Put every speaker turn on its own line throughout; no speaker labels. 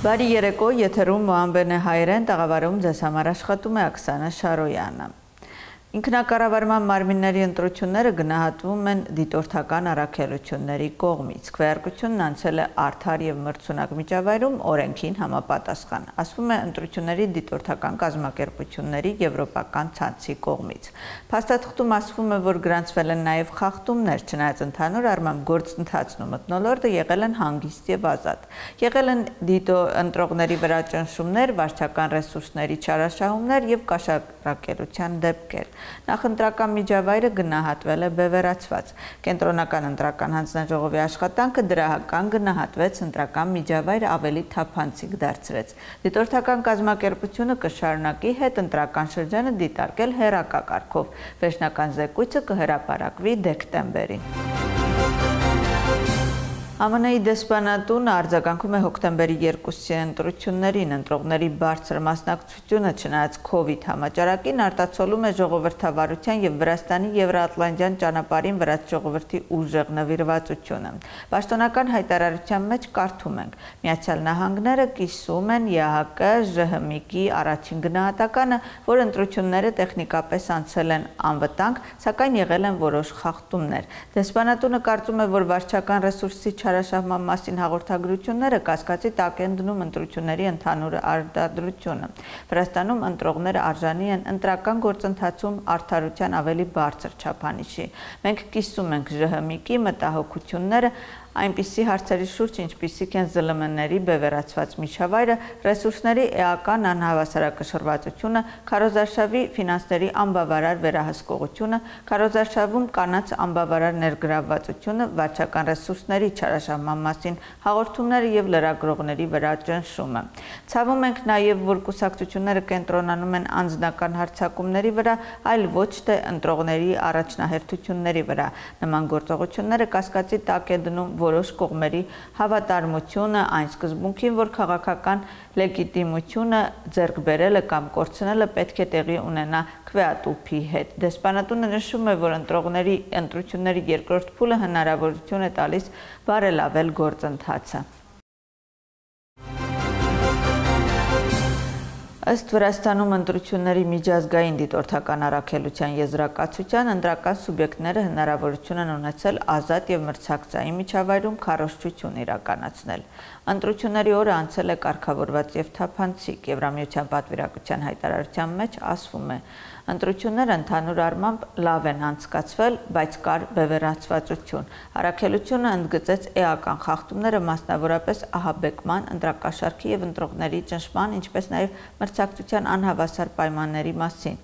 Բարի երեկո, եթերում Մոհամբերն է հայերեն, տաղավարում ձեզ համար աշխատում է Աքսանա Շարոյանը։ Ինքնակառավարման մարմինների ընտրությունները գնահատվում են դիտորդական առաքելությունների կողմից։ Քվեարկությունն անցել է արդար և մրցունակ միջավայրում օրենքին համապատասխան, ասվում է ընտրությունների դիտորդական կազմակերպությունների եվրոպական ցանցի կողմից։ Փաստաթղթում ասվում է, որ գրանցվել են նաև խախտումներ, չնայած ընդհանուր առմամբ գործընթացն ու մթնոլորտը եղել են հանգիստ և ազատ։ Եղել են ընտրողների վրա ճնշումներ, վարչական ռեսուրսների չարաշահումներ և կաշառակերության դեպքեր։ Նախընտրական միջավայրը գնահատվել է բևեռացված։ Կենտրոնական ընտրական հանձնաժողովի աշխատանքը դրահական գնահատվեց, ընտրական միջավայրը ավելի թափանցիկ դարձրեց։ Դիտորդական կազմակերպությունը կշարունակի հետընտրական շրջանը դիտարկել հեռակակարգով։ Վերջնական զեկույցը կհրապարակվի դեկտեմբերին։ ԱՄՆ-ի դեսպանատունը արձագանքում է հոկտեմբերի 2-ի ընտրություններին, ընտրողների բարձր մասնակցությունը չնայած COVID համաճարակին արտացոլում է ժողովրդավարության և Վրաստանի Եվրատլանտյան ճանապարհին վրաց ժողովրդի ուժեղ նվիրվածությունը։ Պաշտոնական հայտարարության մեջ կարդում ենք. Միացյալ Նահանգները կիսում են ԵԱՀԿ ԺՀՄԻԿ-ի առաջին գնահատականը, որ ընտրությունները տեխնիկապես անցել են անվտանգ, սակայն եղել են որոշ խախտումներ։ Դեսպանատունը կարծում է, որ վարչական ռեսուրսի չարաշահման մասին հաղորդագրությունները կասկածի տակ են դնում ընտրությունների ընդհանուր արտադրությունը։ Վրաստանում ընտրողները արժանի են ընտրական գործընթացում արդարության ավելի բարձր չափանիշի։ Մենք կիսում ենք ԺՀՄԻԿ-ի մտահոգությունները այնպիսի հարցերի շուրջ, ինչպիսիք են ԶԼՄ-ների բևեռացված միջավայրը, ռեսուրսների էական անհավասարակշռվածությունը, քարոզարշավի ֆինանսների անբավարար վերահսկողությունը, քարոզարշավում կանանց անբավարար ներգրավվածությունը, վարչական ռեսուրսների չարաշահման մասին հաղորդումները և լրագրողների վրա ճնշումը։ Ցավում ենք նաև, որ կուսակցությունները կենտրոնանում են անձնական հարձակումների վրա, այլ ոչ թե ընտրողների առաջնահերթությունների վրա։ Նման գործողությունները կասկածի տակ է դնում որոշ կողմերի հավատարմությունը այն սկզբունքին, որ քաղաքական լեգիտիմությունը ձեռք բերելը կամ կորցնելը պետք է տեղի ունենա քվեատուփի հետ։ Դեսպանատունը նշում է, որ ընտրությունների երկրորդ փուլը հնարավորություն է տալիս բարելավել գործընթացը։ Ըստ Վրաստանում ընտրությունների միջազգային դիտորդական առաքելության եզրակացության, ընտրական սուբյեկտները հնարավորություն են ունեցել ազատ և մրցակցային միջավայրում քարոզչություն իրականացնել։ Ընտրությունների օրը անցել է կարգավորված և թափանցիկ։ Եվրամիության պատվիրակության հայտարարության մեջ ասվում է. ընտրությունները ընդհանուր առմամբ լավ են անցկացվել, բայց կար բևեռացվածություն։ Առաքելությունը ընդգծեց էական խախտումները, մասնավորապես ահաբեկման, ընտրակաշառքի և ընտրողների ճնշման, ինչպես նաև մրցակցության անհավասար պայմանների մասին։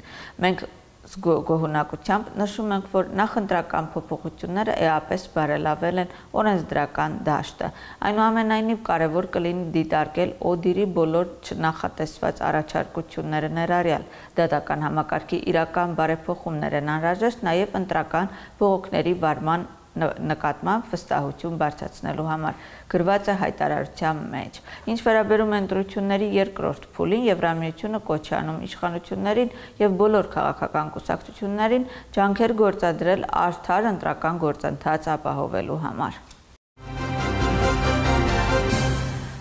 Մենք գոհունակությամբ նշում ենք, որ նախընտրական փոփոխությունները էապես բարելավել են օրենսդրական դաշտը։ Այնուամենայնիվ կարևոր կլինի դիտարկել ODIHR-ի բոլոր չնախատեսված առաջարկությունները ներառյալ։ Դատական համակարգի իրական բարեփոխումներ են անհրաժեշտ նաև ընտրական բողոքների վարման նկատմամբ վստահություն բարձրացնելու համար, գրված է հայտարարության մեջ։ Ինչ վերաբերում է ընտրությունների երկրորդ փուլին, Եվրամիությունը կոչ է անում իշխանություններին և բոլոր քաղաքական կուսակցություններին ջանքեր գործադրել արդար ընտրական գործընթաց ապահովելու համար։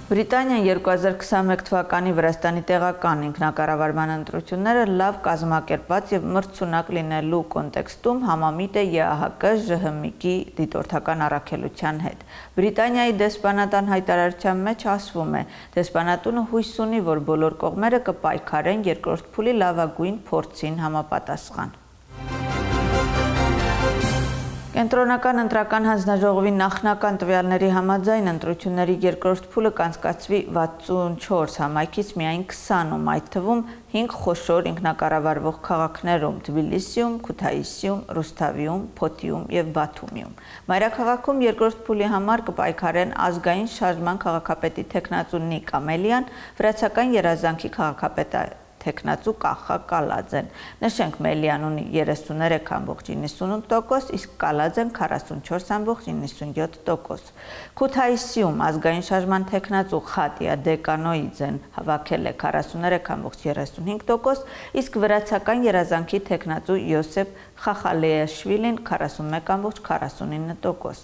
Բրիտանիան 2021 թվականի Վրաստանի տեղական ինքնակառավարման ընտրությունները լավ կազմակերպված և մրցունակ լինելու կոնտեքստում համամիտ է ԵԱՀԿ ԺՀՄԻԿ-ի դիտորդական առաքելության հետ։ Բրիտանիայի դեսպանատան հայտարարության մեջ ասվում է. դեսպանատունը հույս ունի, որ բոլոր կողմերը կպայքարեն երկրորդ փուլի լավագույն փորձին համապատասխան։ Կենտրոնական ընտրական հանձնաժողովի նախնական տվյալների համաձայն ընտրությունների երկրորդ փուլը կանցկացվի 64 համայնքից միայն 20-ում, այդ թվում 5 խոշոր ինքնակառավարվող քաղաքներում՝ Թբիլիսիում, Քութայիսիում, Ռուսթավիում, Փոթիում և Բաթումիում։ Մայրաքաղաքում երկրորդ փուլի համար կպայքարեն ազգային շարժման քաղաքապետի թեկնածու Նիկ Ամելյան, վրացական երազանքի քաղաքապետի թեկնածու Կախա Կալաձեն։ Նշենք, Մելյան ունի 33.98%, իսկ Կալաձեն 44.97%։ Քութայիսիում ազգային շարժման թեկնածու Խատիա Դեկանոիձեն հավաքել է 43.35%, իսկ վրացական երազանքի թեկնածու Յոսեփ Խախալեաշվիլին 41.49%։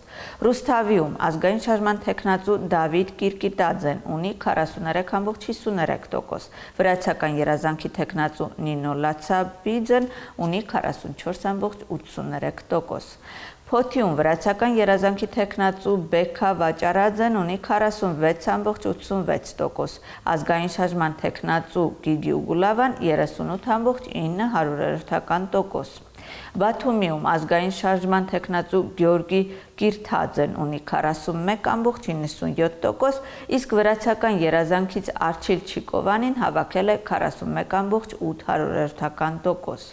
Ռուսթավիում ազգային շարժման թեկնածու Դավիթ Կիրկիտաձեն ունի 43.53%, վրացական երազանքի թեկնածու Նինո Լացաբիձեն ունի 44.83%։ Փոթիում վրացական երազանքի թեկնածու Բեքա Վաճարաձեն ունի 46.86%, ազգային շարժման թեկնածու Գիգի Ուգուլավան 38.9%։ Բաթումիում ազգային շարժման թեկնածու Գյորգի Կիրթաձեն ունի 41.97%, իսկ վրացական երազանքից Արչիլ Չիկովանին հավաքել է 41.8%։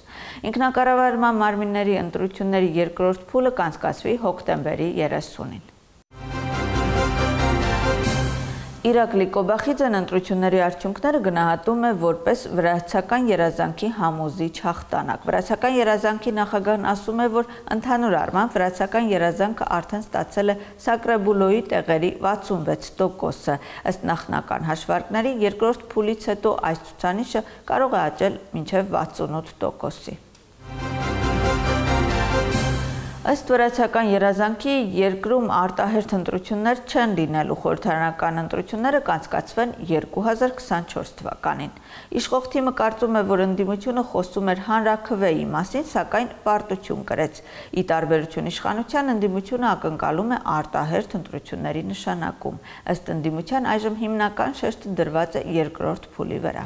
Ինքնակառավարման մարմինների ընտրությունների երկրորդ փուլը կանցկացվի հոկտեմբերի 30-ին։ Իրակլի Կոբախիձեն ընտրությունների արդյունքները գնահատում է որպես վրացական երազանքի համոզիչ հաղթանակ։ Վրացական երազանքի նախագահն ասում է, որ ընդհանուր առմամբ վրացական երազանքը արդեն ստացել է Սակրեբուլոյի տեղերի 66%-ը։ Ըստ նախնական հաշվարկների երկրորդ փուլից հետո այս ցուցանիշը կարող է աճել մինչև 68%-ի։ Ըստ վրացական երազանքի երկրում արտահերթ ընտրություններ չեն լինելու, խորհրդարանական ընտրությունները կանցկացվեն 2024 թվականին։ Իշխող թիմը կարծում է, որ ընդդիմությունը խոսում էր հանրաքվեի մասին, սակայն պարտություն կրեց։ Ի տարբերություն իշխանության, ընդդիմությունը ակնկալում է արտահերթ ընտրությունների նշանակում։ Ըստ ընդդիմության այժմ հիմնական շեշտը դրված է երկրորդ փուլի վրա։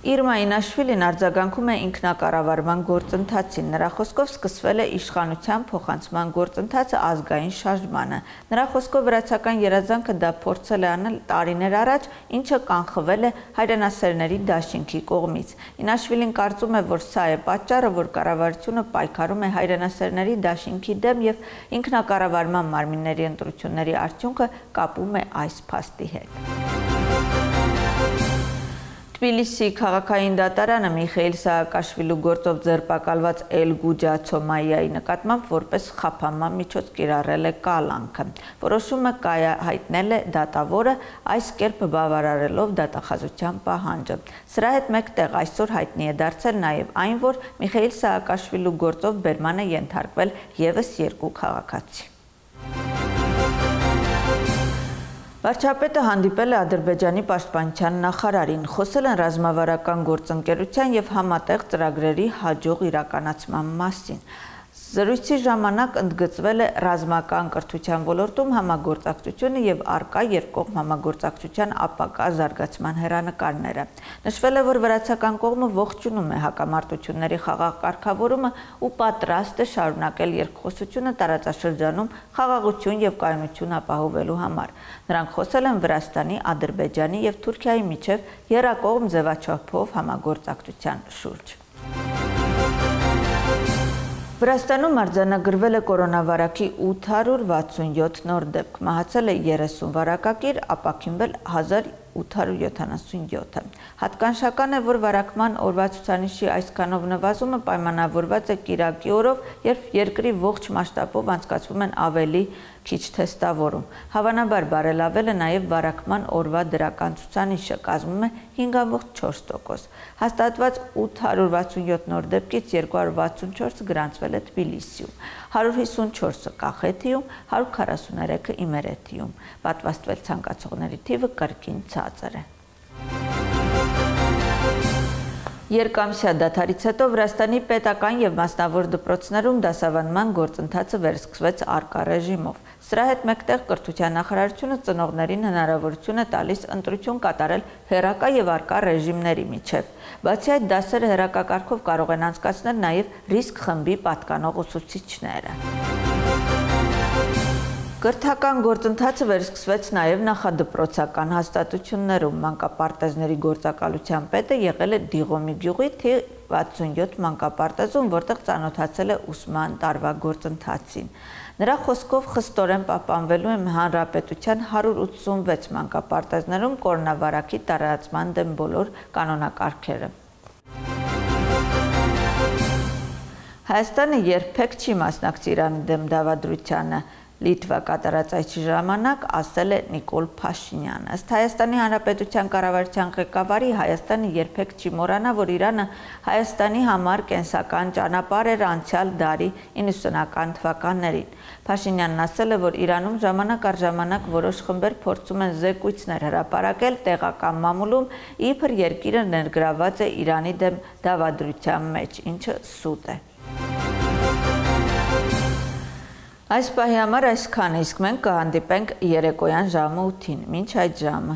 Իրմա Ինաշվիլին արձագանքում է ինքնակառավարման գործընթացին։ Նրա խոսքով սկսվել է իշխանության փոխանցման գործընթացը ազգային շարժմանը։ Նրա խոսքով վրացական երազանքը դա փորձել է անել տարիներ առաջ, ինչը կանխվել է հայրենասերների դաշինքի կողմից։ Ինաշվիլին կարծում է, որ սա է պատճառը, որ կառավարությունը պայքարում է հայրենասերների դաշինքի դեմ եւ ինքնակառավարման մարմինների ընտրությունների արդյունքը կապում է այս փաստի հետ։ Թբիլիսի քաղաքային դատարանը Միխեիլ Սաակաշվիլու գործով ձերբակալված Էլգուջա Ցոմայիայի նկատմամբ որպես խափանման միջոց կիրառել է կալանքը։ Որոշումը հայտնել է դատավորը, այս կերպ բավարարելով դատախազության պահանջը։ Սրա հետ մեկտեղ այսօր հայտնի է դարձել նաև այն, որ Միխեիլ Սաակաշվիլու գործով բերման է ենթարկվել ևս երկու քաղաքացի։ Վարչապետը հանդիպել է Ադրբեջանի պաշտպանության նախարարին, խոսել են ռազմավարական գործընկերության և համատեղ ծրագրերի հաջող իրականացման մասին։ Զրույցի ժամանակ ընդգծվել է ռազմական կրթության ոլորտում համագործակցությունը և առկա երկկողմ համագործակցության ապակա զարգացման հեռանկարները։ Նշվել է, որ վրացական կողմը ողջունում է հակամարտությունների խաղաղ կարգավորումը ու պատրաստ է շարունակել երկխոսությունը տարածաշրջանում խաղաղություն և կայունություն ապահովելու համար։ Նրանք խոսել են Վրաստանի, Ադրբեջանի և Թուրքիայի միջև եռակողմ ձևաչափով համագործակցության շուրջ։ Վրաստանում արձանագրվել է կորոնավարակի 867 նոր դեպք, մահացել է 30 վարակակիր, ապաքինվել 1877-ը։ Հատկանշական է, որ վարակման օրվա ցուցանիշի այսքանով նվազումը պայմանավորված է կիրակի օրով, երբ երկրի ողջ մասշտաբով անցկացվում են ավելի քիչ թեստավորում։ Հավանաբար բարելավել է նաև վարակման օրվա դրական ցուցանիշը, կազմում է 5.4%։ Հաստատված 867 նոր դեպքից 264-ը գրանցվել է Թբիլիսիում, 154-ը Կախեթիում, 143-ը Իմերեթիում։ Պատվաստվել ցանկացողների թիվը կրկին ցածր է։ Երկամսյա դադարից հետո Վրաստանի պետական և մասնավոր դպրոցներում դասավանդման գործընթացը վերսկսվեց առկա ռեժիմով։ Սրա հետ մեկտեղ կրթության նախարարությունը ծնողներին հնարավորություն է տալիս ընտրություն կատարել հեռակա և առկա ռեժիմների միջև։ Բացի այդ, դասերը հեռակակարգով կարող են անցկացնել նաև ռիսկ խմբի պատկանող ուսուցիչները։ Կրթական գործընթացը վերսկսվեց նաև նախադպրոցական հաստատություններում։ Մանկապարտեզների գործակալության պետը եղել է Դիղոմի գյուղի թիվ 67 մանկապարտեզում, որտեղ ծանոթացել է ուսման տարվա գործընթացին։ Նրա խոսքով խստորեն պահպանվելու են հանրապետության 186 մանկապարտեզներում կորոնավարակի տարածման դեմ բոլոր կանոնակարգերը։ Հայաստանը երբեք չի մասնակցի Իրանի դեմ դավադրությանը, Լիտվա կատարած այս ժամանակ ասել է Նիկոլ Փաշինյանը։ Ըստ Հայաստանի Հանրապետության կառավարության ղեկավարի, Հայաստանը երբեք չի մոռանա, որ Իրանը Հայաստանի համար կենսական ճանապարհ էր անցյալ դարի 90-ական թվականներին։ Փաշինյանն ասել է, որ Իրանում ժամանակ առ ժամանակ որոշ խմբեր փորձում են զեկույցներ հրապարակել տեղական մամուլում, իբր երկիրը ներգրաված է Իրանի դեմ դավադրության մեջ, ինչը սուտ է։ Այս պահի համար այսքանը, իսկ մենք կհանդիպենք երեկոյան ժամը 8-ին, մինչ այդ ժամը։